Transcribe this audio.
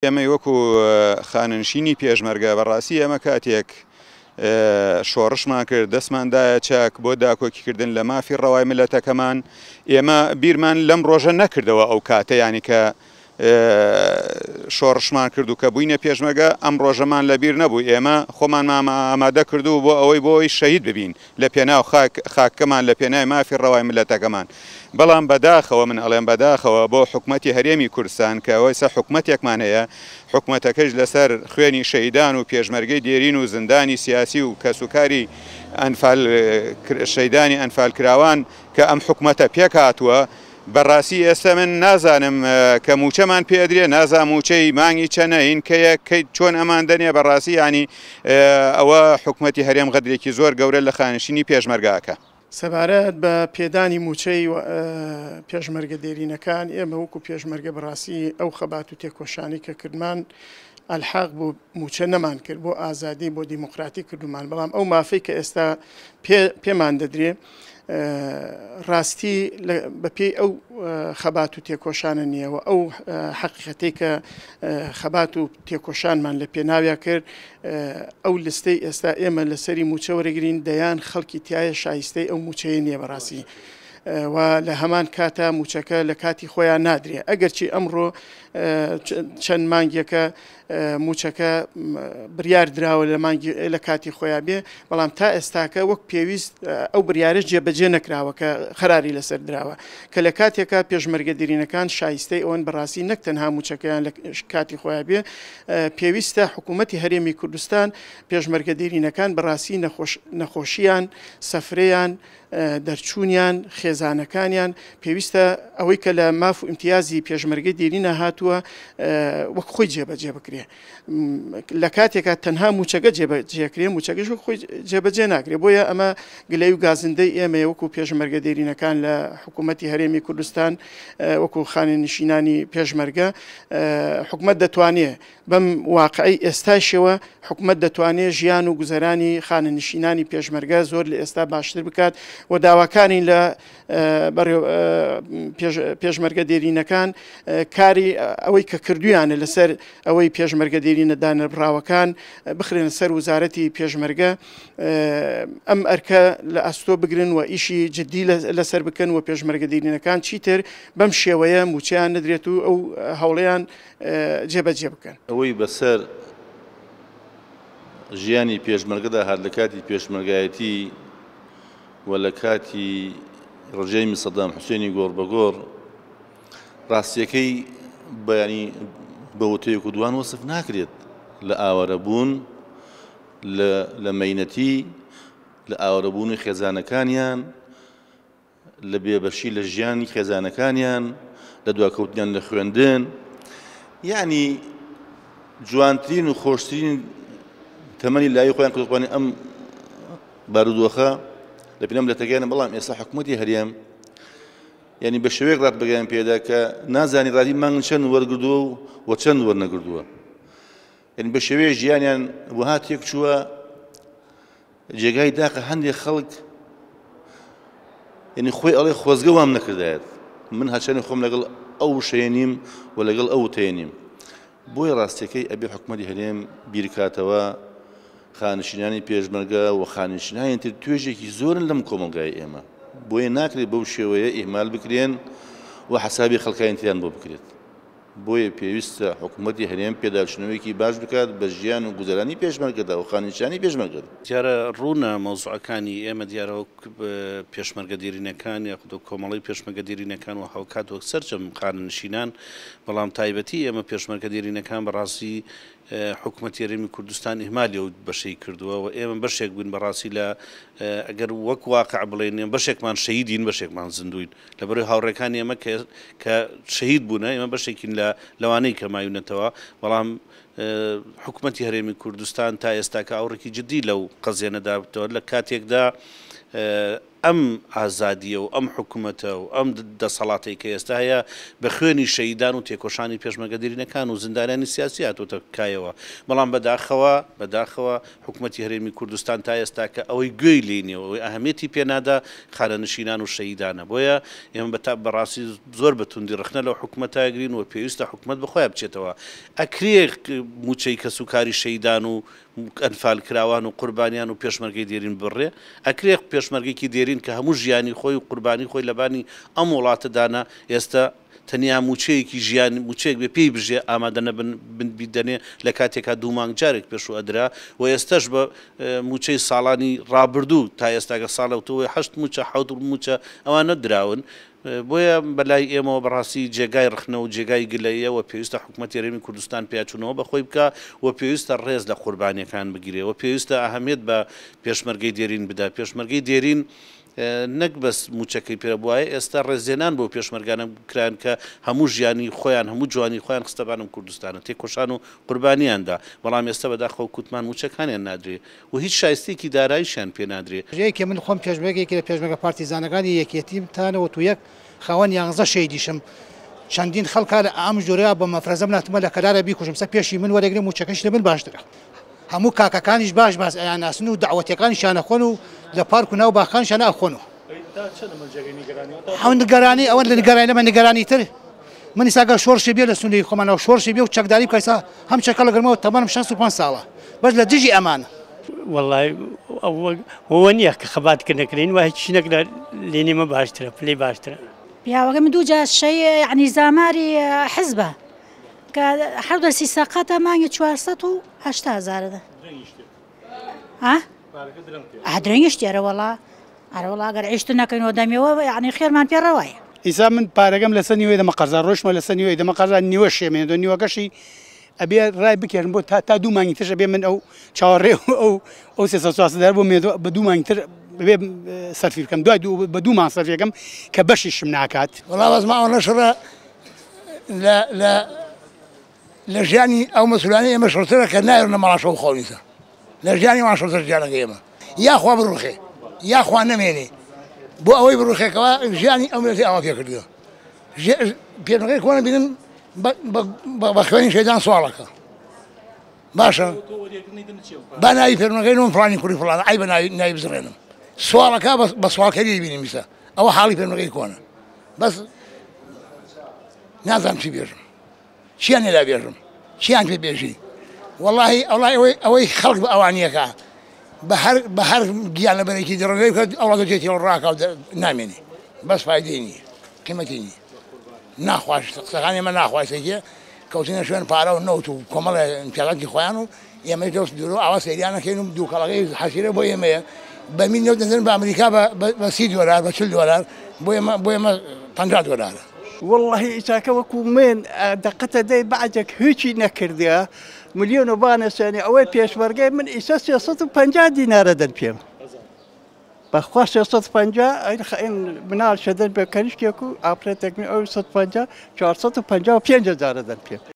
ئێمەی وەکو خانەنشینی پێشمەرگە بەڕاستی ئێمە کاتێک شۆڕشمان کرد دەستمان دایە چەک بۆ داکۆکیکردن لە مافی ڕەوای میللەتەکەمان ئێمە بیرمان لەم ڕۆژە نەکردەوە ئەو کاتە یانی کە شۆڕشمان کرد و کە بووینە پێشمەرگە ئەم ڕۆژەمان لەبیر نەبوو ئێمە خۆمانمان ئامادە کردو بۆ ئەوەی بۆ ئەوەی شەهید ببین لە پێناو خاک خاکەکەمان لە پێناوی مافی ڕەوای میللەتەکەمان بەڵام بەداخەوە من ئەڵێم بەداخەوە بۆ حکومەتی هەرێمی کوردستان کە ئەوەیسە حکومەتێکمان هەیە حکومەتەکەش لەسەر خوێنی شەهیدان و پێشمەرگەی دێرین و زیندانی سیاسی و کەسوکاری ئەنفال شەیدانی ئەنفالکراوان کە ئەم حکومەتە پێکهاتووە بەڕاستی ئێستا من نازانم کە موچەمان پێ ئەدرێ نازانم موچەی مانگی چەنە هین کەیە کەی چۆن ئەمان دەنێ بەڕاستی یانی ئەوە حکومەتی هەرێم غەدرێکی زۆر گەورە لە خانشینی پێشمەرگە ئەکا. سەبارەت بە پێدانی موچەی پێشمەرگە دێرینەکان ئێمە وەکو پێشمەرگە بەڕاستی ئەو خەبات و تێکۆشانەی کە کردمان ئەلحاق بۆ موچە نەمان کرد بۆ ئازادی بۆ دیموکراتی کردومان بەڵام ئەو مافەی کە ئێستا پێمان دەدرێ ڕاستی بەپێی ئەو خەبات و تێکۆشانە نییە و ئەو حەقیقەتەی کە خەبات و تێکۆشانمان لە پێناویا کرد ئەو لستەی ئێستا ئێمە لەسەری موچە وەرەگرین دەیان خەڵکی تایە شایستەی ئەو موچەیە نییە بەڕاستی. و لە هەمان کاتا موچەکە لە کاتی خۆیان نادرێ ئەگەرچی ئەمڕۆ چەند مانگێکە مووچەکە بریار دراوە لە مانگی لە کاتی خۆیان بێ، بەڵام تا ئێستاکە وەک پێویست ئەو بریارەش جێبەجێ نەکراوە کە قەراری لەسەر دراوە کە لە کاتێکا پێشمەرگە دێرینەکان شایستەی ئەوەن بەڕاستی نەک تەنها مووچەکەیان لە کاتی خۆیان بێ پێویستە حکوومەتی هەرێمی کوردستان پێشمەرگە دێرینەکان بەڕاستی نەخۆش نەخۆشیان سەفرەیان دەرچوونیان، خێزانەکانیان، پێویستە ئەوەی کە لە ماف و ئیمتیازی پێشمەرگەی دێرینە هاتووە وەک خۆی جێبەجێ بکرێ. لە کاتێکا تەنها مووچەکە جێبەجێکرێ، مووچەکەش وەک خۆی جێبەجێ ناکرێ. بۆیە ئەمە گلەی و گازندەی ئێمەیە وەکو پێشمەرگە دێرینەکان لە حکوومەتی هەرێمی کوردستان، وەکو خانەنشینانی پێشمەرگە. حکومەت دەتوانێ بەم واقعەی ئێستایشەوە حکومەت دەتوانێت ژیان و گوزەرانی خانەنشینانی پێشمەرگە زۆر لە ئێستا باشتر بکات و داواکارین لە پێشمەرگە دێرینەکان کاری ئەوەی کە کردویانە لەسەر ئەوەی پێشمەرگە دێرینە دانەبڕاوەکان بخرێنە سەر وزارەتی پێشمەرگە ئەم ئەرکە لە ئەستۆ بگرن و ئیشی جدی لەسەر بکەن و پێشمەرگە دێرینەکان چیتر بەم شێوەیە موچەیان نەدرێت و ئەو هەوڵیان جێبەجێ بکەن. ئەوەی بەسەر ژیانی پێشمەرگەدا هات لە کاتی پێشمەرگایەتی و لە کاتی ڕژێمی سەدام حوسێنی گۆڕ بە گۆڕ ڕاستیەکەی بەیانی بە وتەیەک و دوان وەسف ناکرێت لە ئاوارەبوون لە مەینەتی لە ئاوارەبوونی خێزانەکانیان لە بێبەشی لە ژیانی خێزانەکانیان، لە دواکەوتنیان لە خوێندن، یەعنی جوانترین و خۆشترین تەمەنی لاوی خۆیان کردوە قوربانی ئەم بارودۆخە لە پێناو مللەتەکەیان، بەڵام ئێستا حکوومەتی هەرێم یعنی بە شێوەیەک ڕاتبەگەیان پێدا کە نازانی ڕادی مانگ چەند وەرگردووە و چەند وەرنەگردووە، یعنی بە شێوەیە ژیانیان وەها تێکچووە جێگای داخە هەندێک خەڵک یعنی خۆی ئەڵێ خۆزگە وام نەکردایەت من هەرچەنی خۆم لەگەڵ ئەو وشەیە نیم و لەگەڵ ئەو وتەیە نیم بۆیە ڕاستیەکەی ئەبێ حکومەتی هەرێم بیرکاتەوە خانشینانی پێشمەرگە و خانشینانی تر توێژێکی زۆرن لەم کۆمەڵگای ئێمە بۆیە ناکرێت بەو شێوەیە ئیهمال بکرێن و حەسابی خەڵکانی تریان بۆ بکرێت. بۆیە پێویستە حکومەتی هەرێم پێداچونەوەیەکی باش بکات بە ژیان و گوزەرانی پێشمەرگەدا و خانەنشینانی پێشمەرگەدا. دیارە ڕوونە مەوزوعەکانی ئێمە دیارە وەک پێشمەرگە دێرینەکان یاخود وەک کۆمەڵەی پێشمەرگە دێرینەکان و هاوکات وەک سەرجەم خانەنشینان، بەڵام تایبەتی ئێمە پێشمەرگە دێرینەکان بەڕاستی حکومەتی هەرێمی کوردستان ئیهمالی ئەو بەشەی کردووە و ئێمە بەشێک بووین بەڕاستی لە ئەگەر وەک واقع بڵێین ئێمە بەشێکمان شەهیدین بەشێکمان زیندووین لەبەرئەوەی هاوڕێکانی ئێمە کە کە شەهید بوونە ئێمە بەشێکین لە لەوانەی کە مایونەتەوە بەڵام حکومەتی هەرێمی کوردستان تا ئێستاکە ئاوڕێکی جدی لەو قەزیە نەدابتەوە لە کاتێکدا ئەم ئازادییە و ئەم حکومەتە و ئەم دەسەڵاتەی کە ئێستا هەیە بە خوێنی شەهیدان و تێکۆشانی پێشمەرگە دێرینەکان و زیندانیانی سیاسی هاتۆتە کایەوە، بەڵام بەداخەوە بەداخەوە حکومەتی هەرێمی کوردستان تا ئێستاکە ئەوەی گوێی لێی نیە و ئەوەی ئەهەمیەتی پێ نادا خانەنشینان و شەهیدانە، بۆیە ئێمە بە تا بەڕاستی زۆر بە توندی ڕەخنە لەو حکومەتە ئەگرین و پێویستە حکومەت بە خۆیا بچێتەوە ئەکرێ مووچەی کەسوکاری شەهیدان و ئەنفالکراوان و قوربانیان و پێشمەرگەی دێرین ببڕێ؟ ئەکرێ پێشمەرگێکی دێرین کە هەموو ژیانی خۆی و قوربانی خۆی لەبانی ئەم وڵاتە دانا ئێستە تەنیا مووچەیەکی ژیان مووچەیەک بێ پێی بژێ ئامادە نەبن بیدەنێ لە کاتێکا دوو مانگ جارێک پێشوو ئەدرا و ئێستەش بە مووچەی ساڵانی ڕابردوو تا ئێستاکە ساڵە و هەشت مووچە حەوت مووچە ئەوانە دراون بۆیە بەلای ئێمەوە بەڕاستی جێگای ڕەخنە و جێگای گلەییە و پێویستە حکومەتی هەرێمی کوردستان پیاچوونەوە بە خۆی بکا و پێویستە ڕێز لە قوربانییەکان بگیرێ و پێویستە ئەهەمیەت بە پێشمەرگەی دێرین بدا. پێشمەرگەی دێرین نەک بەس مووچەکەی پێ بوایە، ئێستا ڕێزلێنان بەو پێشمەرگانە کران کە هەموو ژیانی خۆیان، هەموو جوانی خۆیان خستە بان ئەم کوردستانە، تێکۆشان و قوربانییان دا، بەڵام ئێستا بەداخەوە کوتمان مووچەکانیان نادرێ. و هیچ شایستەیەکی داراییشیان پێ نادرێ. یەکێ من خۆم پێشمەرگێکی لە پێشمەرگە پارتیزانەکانی یەکێتیم تا 91 خاوەن یانزە شەیدیشم چەندین خەڵکا لە ئەم جۆرە بە مەفرەزەم ناتمە لە کەلارە بیکوژم سە پێشی من وەرەگرێ موچەکەش لە من باشترە هەموو کاکەکانیش باش باس ئەیانناسن و دەعوەتیەکانیشیان ئەخۆن و لە پارک و ناو باخەکانیشیان ئەخۆن و ئەو نیگەرانی ئەوە لە نیگەرانی لەمە نیگەرانی تر من ئیستا گەر شۆڕشی بێ لە سنووری خۆمانەوە شۆڕشی بێ و چەکداری بکە ئیستا هەم چەکە لەگەرمەوە تەمەنم 65 ساڵە بەس لە دژی ئەمانە. وەڵای ئەوە نییە کە خەبات کە نەکرێن وە هیچ نەکرا لێنی مە باشترە پلەی باشترە. پیاوەکەی من دوو جار شەی یعنی زاماری حزبە کە هەر دەرسی سەقەتە مانگی 480 هەزارە دە ها درەنگیش تێرە وەڵا ئەرەوەڵا گەر عیشت نەکەین و دەمێوە یعنی خێرمان پێ ڕەوایە. ئیسا من پارەکەم لەسەر نیوەی دەمە قەرزار ڕۆیشتمە لەسەر نیوەی دەمە قەرزار نیوە شێمێنێتەوە نیوەکەشی ئەبێ ڕای بکێشم بۆ تا تا دوو مانگی ترش ئەبێ من ئەو چاوەڕێ ئەو ئەو سێ سەد چوار سەد بۆ مێنێتەوە بە دوو مانگی تر بێ سەرفی بکەم دوای دوو بە دوو مانگ سەرفیەکەم کە بەشیشم ناکات. وەڵا بەس ماوە نەشڕە لە لە لە ژیانی ئەو مەسولانەی ئێمە شڕترە کە نایەرنە ماڵان شەو خەونیتە لە ژیانی وان شڕتر ژیانەکەی ئێمە یاخوا بڕوخێ یاخوا نەمێنێ بۆ ئەوەی بڕوخێکەوە ژیانی ئەو ملەتی ئاوا پێ کردووە پێشمەرگەی کۆنە بینم بە خوێنی شەیدان سواڵەکە باشە با ناوی پێشمەرگەی نۆم فڵانی کوڕی فڵانە ئەی بە ناوی ناوی بزڕێنم سواڵەکە بە سواڵکەری بینیم ئیستا ئەوە حاڵی پێشمەرگەی کۆنە بەس نازانم چی بێژم چیان لێ بێژم چیان پێ بێژی وەڵاهی ئەوڵای ئەوەی ئەوەی خەڵک بە ئەوانیەکە بە هەر بە هەر گیان لەبەرێکی دڕندەی بکات ئەو وڵاتە جێ تێوە ڕاکا و نامێنێ بەس فایدەی نییە قیمەتی نییە ناخواش قسەکانی ئێمە ناخواسێکیە کەوتینە شوێن پارە و نەوت و کۆمەڵێ امتیازاتی خۆیان و ئێمەش دەست دوورۆ ئاوا سەیریانەکەین و دووکەڵەکەی حەسیرە بۆ ئێمەیە بەمین نەوت دەدەن بە ئەمریکا بە 30 دۆلار بە 40 دۆلار بۆ ئێمە بۆ ئێمە 50 دۆلارە. وەڵڵاهی ئیساکە وەکوو من دەقەتە دەی بەعزێک هیچی نەکردیە ملیۆن و بانە سێنێ ئەوەی پێشمەرگەی من ئیسا 350 دینارە دەن پێم بەخوا 350 ئەین خەین مناڵ شەدەن بە کەنیشتێک و ئافرەتێک من ئەو 150 455 هەزارە دەن پێم.